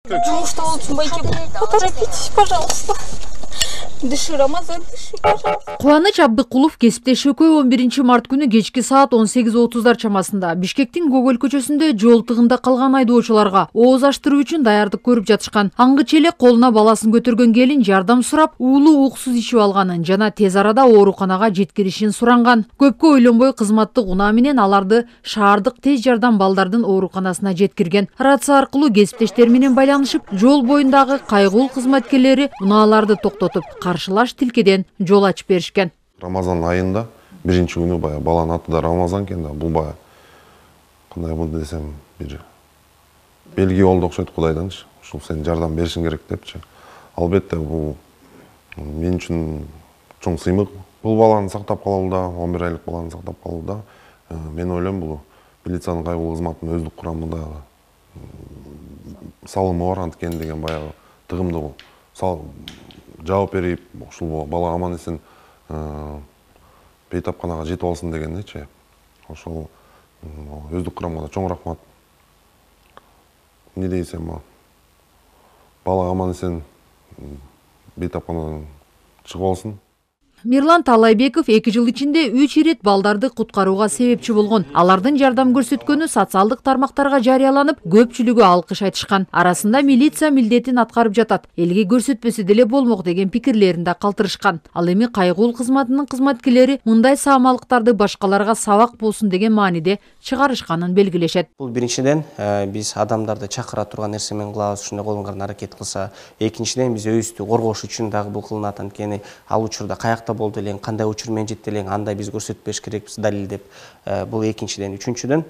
Жумушта болчумбай келип, поторопитесь, пожалуйста. Дыши, Рамазан, дыши, пожалуйста. Кубаныч Абдыкулов кесиптеш экөө 11 март күнү кечки саат 18:30 чамасында Бишкектин Гоголь көчөсүндө жол тыгында калган айдоочуларга ооз аштыруу үчүн даярдык көрүп жатышкан. Аңгыча эле колуна баласын көтөргөн келин жардам сурап, уулу уксуз ичип алганын жана тез арада ооруканага жеткиришин суранган. Көпкө ойлонбой кызматтык унаа менен аларды шаардык тез жардам балдардын ооруканасына жеткирген. Рация аркылуу кесиптештер менен байланышып, жол боюндагы кайгыл кызматкерлери унааларды токтотуп, каршылаш тилкеден жол ачып беришкен. Рамазан айында биринчи күнү баягы баланын аты да Рамазан экен да, бул баягы кандай болду десем, бир белги болду окшойт Кудайданчы. Ушул сен жардам беришиң керек депчи. Албетте бул мен үчүн чоң сыймык. Бул баланы сактап калууда, 11 айлык баланы сактап калууда мен ойлойм бул милициянын кайгылуу кызматынын өздүк курамында салымы бар анткени деген баягы тыгымдуу жооп берип, ушул бала аман эсен бейтапканага жетип алсын дегендечи. Ошол өздүк курамга да чоң рахмат. Не дейсем, бала аман эсен бейтапканадан чыгып алсын. Мирлан Талайбеков 2 жыл ичинде 3 ирет балдарды куткарууга себепчи болгон. Алардын жардам көрсөткөнү социалдык тармактарга жарыяланып, көпчүлүгү алкыш айтышкан. Арасында милиция милдетин аткарып жатат, элге көрсөтпөсө деле болмок деген пикирлерин да калтырышкан. Ал эми кайгыл кызматынын кызматкерлери мындай саамалыктарды башкаларга сабак болсун деген мааниде чыгарышканын белгилешет. Бул биринчиден биз адамдарды чакыра турган нерсе менен кылабыз, ушундай колдонгон аракет кылса. Экинчиден биз өзүбүздү коргош үчүн дагы бул кылынат, анткени ал учурда каякта болду элең, кандай учур менен жетти элең, андай биз көрсөтпөш керекпиз далилдеп. Бул экинчиден. Үчүнчүдөн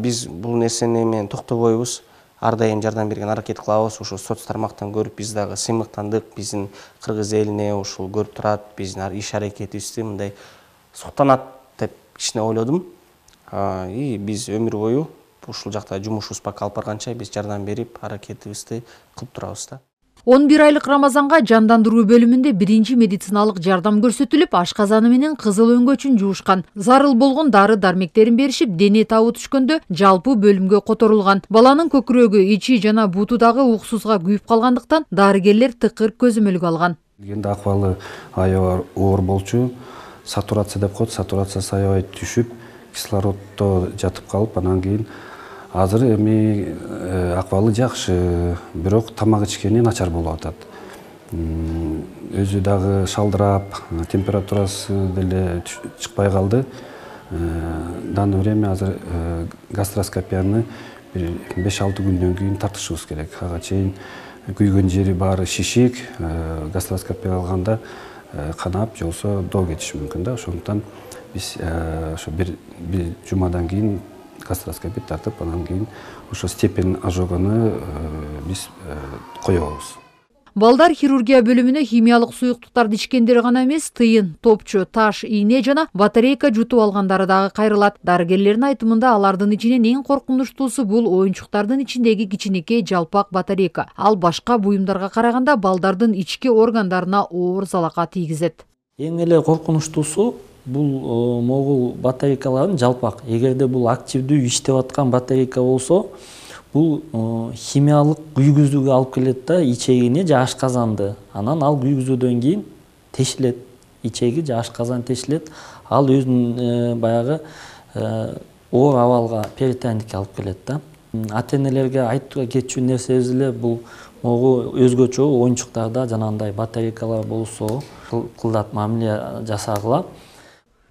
биз бул нерсени менен токтобойбуз. Ар дайым жардам берген аракет кылабыз. Ушул соц тармактан көрүп биз дагы сыймыктандык. Биздин кыргыз элине ушул көрүп турат, биздин иш аракетибизди мындай суктанат деп кичине ойлодум. И биз өмүр бою ушул жакта жумушубуз пока алып барганча биз жардам берип, аракетибизди кылып турабыз да. 11 айлык Рамазанга жандандыруу бөлүмүндө биринчи медициналык жардам көрсөтүлүп, ашказаны менен кызыл өңгөчүн жуушкан. Зарыл болгон дары-дармектерин беришип, дене табы түшкөндө жалпы бөлүмгө которулган. Баланын көкүрөгү, ичи жана буту дагы уксузга күйүп калгандыктан дарыгерлер тыкыр көзөмөлгө алган. Келгенде акыбалы аябай оор болчу. Сатурация деп коет, сатурациясы аябай түшүп, кислороддо жатып калып, анан кийин азыр эми акыбалы жакшы, бирок тамак ичкени начар болуп атат. Өзү дагы шалдырап, температурасы деле чыкпай калды. Данное время азыр гастроскопияны 5-6 күндөн кийин тартышыбыз керек. Ага чейин күйгөн жери баары шишик, гастроскопия алганда канап, жолсо доо кетиши мүмкүн да. Ошондуктан биз ошо бир жумадан кийин гастроскопия тартып, анан кийин ошо степень ожогуну биз коебуз. Балдар хирургия бөлүмүнө химиялык суюктуктарды ичкендер гана эмес, тыйын, топчу, таш, ийне жана батарейка жутуп алгандары дагы кайрылат. Дарыгерлердин айтымында алардын ичинен эң коркунучтуусу бул оюнчуктардын ичиндеги кичинекей жалпак батарейка. Ал башка буюмдарга караганда балдардын ички органдарына оор залака тийгизет. Эң эле коркунучтуусу бул могул батарейкалардын жалпак. Эгерде бул активдүү иштеп аткан батарейка болсо, бул химиялык күйгүзүүгө алып келет да, ичегине же ашказанды. Анан ал күйгүзүүдөн кийин тешилет, ичеги же ашказан тешилет. Ал өзүнүн баягы оор абалга, перитониткке алып келет да. Ата-энелерге айтууга кетчү нерсебиз эле бул могу өзгөчө оюнчуктарда жанагындай батарейкалар болсо, кылдат мамиле жасагыла.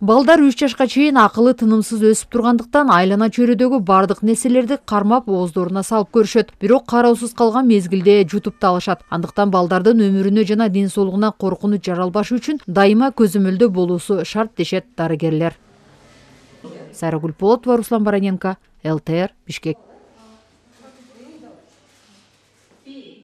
Балдар 3 жашка чейин акылы тынымсыз өсүп тургандыктан айлана чөйрөдөгү бардык нерселерди кармап ооздоруна салып көрүшөт. Бирок кароосуз калган мезгилде жутуп да алышат. Андыктан балдардын өмүрүнө жана ден соолугуна коркунуч жаралбаш үчүн дайыма көзөмөлдө болуусу шарт дешет дарыгерлер. Сайрагүл Полотова, Руслан Бараненко, ЛТР, Бишкек.